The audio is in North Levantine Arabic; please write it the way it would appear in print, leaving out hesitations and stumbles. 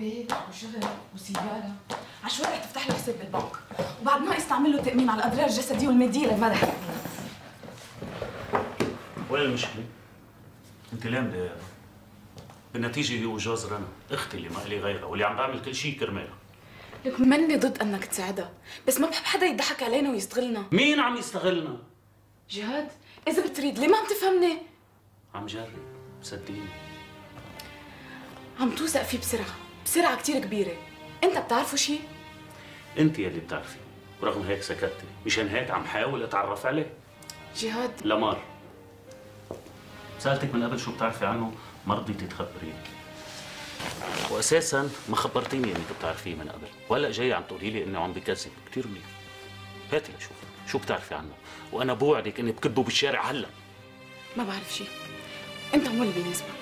بيت وشغل وسيارة، عشوائي رح تفتح له حساب بالبنك، وبعد ناقص تعمل له تأمين على الأضرار الجسدية والمادية للمدح. وين المشكلة؟ أنت ليه مضايقة؟ بالنتيجة هي وجوز رنا، أختي اللي ما إلي غيرها واللي عم بعمل كل شيء كرمالها. لك مني ضد انك تساعدها، بس ما بحب حدا يضحك علينا ويستغلنا. مين عم يستغلنا؟ جهاد، إذا بتريد ليه ما عم تفهمني؟ عم جرب، صدقيني. عم توثق فيه بسرعة كتير كبيرة. أنت بتعرفه شيء؟ أنت يلي بتعرفي، ورغم هيك سكتتي، مشان هيك عم حاول أتعرف عليه. جهاد لمار، سألتك من قبل شو بتعرفي عنه، ما رضيتي تخبريني. وأساساً ما خبرتيني إنك بتعرفيه من قبل، وهلا جاي عم تقولي لي إنه عم بكذب، كثير منيح. هاتي لشوف، شو بتعرفي عنه؟ وأنا بوعدك إني بكبه بالشارع هلا. ما بعرف شيء. أنت مو اللي بيناسبك.